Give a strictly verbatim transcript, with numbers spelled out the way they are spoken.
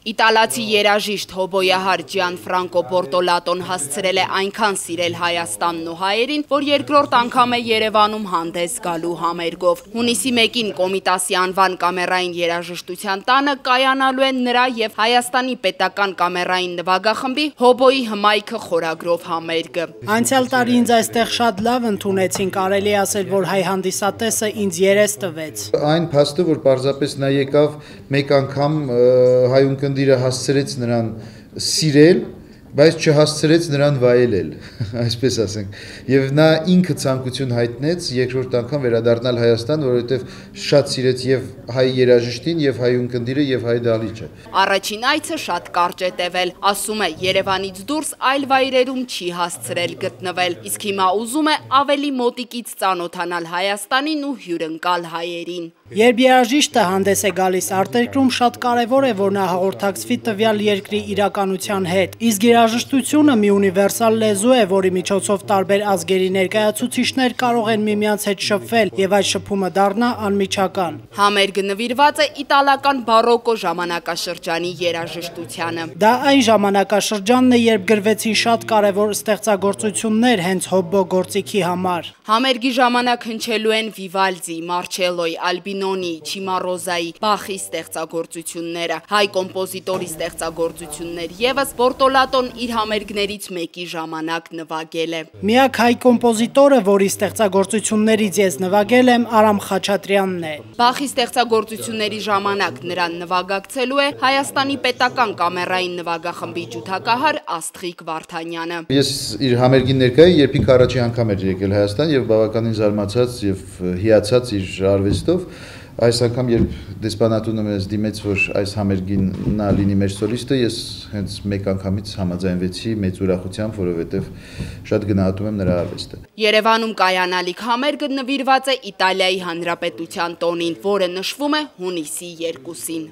Իտալացի երաժիշտ հոբոյահար Ջիանֆրանկո Բորտոլատոն հասցրել է այնքան սիրել Հայաստանն ու հայերին, որ երկրորդ անգամ է Երևանում հանդես գալու համերգով։ Հունիսի մեկին Կոմիտասի անվան կամերային երաժշտության տանը կայանալու են նրա եւ Հայաստանի պետական կամերային նվագախմբի հոբոյի հմայքը խորագրով համերգը։ Անցյալ տարի ինձ այստեղ շատ լավ ընդունեցին, կարելի ասել, որ հայ հանդիսատեսը ինձ երես տվեց։ Այն փաստը, որ պարզապես նա եկավ մեկ անգամ հայուն Կնդիրը հասցրեց նրան սիրել, բայց չհասցրեց նրան վայելել, այսպես ասենք, եւ նա ինքը ցանկություն հայտնեց երկրորդ անգամ վերադառնալ Հայաստան, որովհետեւ շատ սիրեց եւ հայ երաժիշտին, եւ հայ ունկնդիրը, եւ հայ դահլիճը։ Առաջին այցը շատ կարճ է տևել, ասում է Երևանից դուրս այլ վայրերում չի հասցրել գտնվել, իսկ հիմա ուզում է ավելի մոտիկից ծանոթանալ Հայաստանին ու հյուրընկալ հայերին։ Երբ երաժիշտը հանդես է գալիս արտերկրում, շատ կարևոր է, որ նա հաղորդակցվի տվյալ երկրի իրականության հետ, իսկ երաժշտությունը մի ունիվերսալ լեզու է, որի միջոցով տարբեր ազգերի ներկայացուցիչներ կարող են միմյանց հետ շփվել եւ այդ շփումը դառնա անմիջական։ Համերգը նվիրված է իտալական բարոկո ժամանակաշրջանի երաժշտությանը։ Դա այն ժամանակաշրջանն է, երբ գրվեցին շատ կարևոր ստեղծագործություններ հենց հոբո գործիքի համար։ Համերգի ժամանակ հնչելու են Վիվալդի, Մարչելոյի, Ալբինոնի, Չիմարոզայի, Բախի ստեղծագործությունները, հայ կոմպոզիտորի ստեղծագործություններ եւս Բորտոլատոն իր համերգներից մեկի ժամանակ նվագել է։ Միակ հայ կոմպոզիտորը, որի ստեղծագործություններից ես նվագել եմ, Արամ Խաչատրյանն է։ Բախի ստեղծագործությունների ժամանակ նրան նվագակցելու է Հայաստանի պետական կամերային նվագախմբի ջութակահար Աստղիկ Վարդանյանը։ Ես իր համերգին ներկա էի, երբ ինքը առաջի անգամ էր եկել Հայաստան եւ բավականին զարմացած եւ հիացած իր արվեստով։ Այս անգամ, երբ դեսպանատունը մեզ դիմեց, որ այս համերգին նա լինի մեր սոլիստը, ես հենց մեկ անգամից համաձայնվեցի մեծ ուրախությամբ, որովհետև շատ գնահատում եմ նրա արվեստը։ Երևանում կայանալիք համերգը նվիրված է Իտալիայի Հանրապետության տոնին, որը նշվում է հունիսի երկուսին։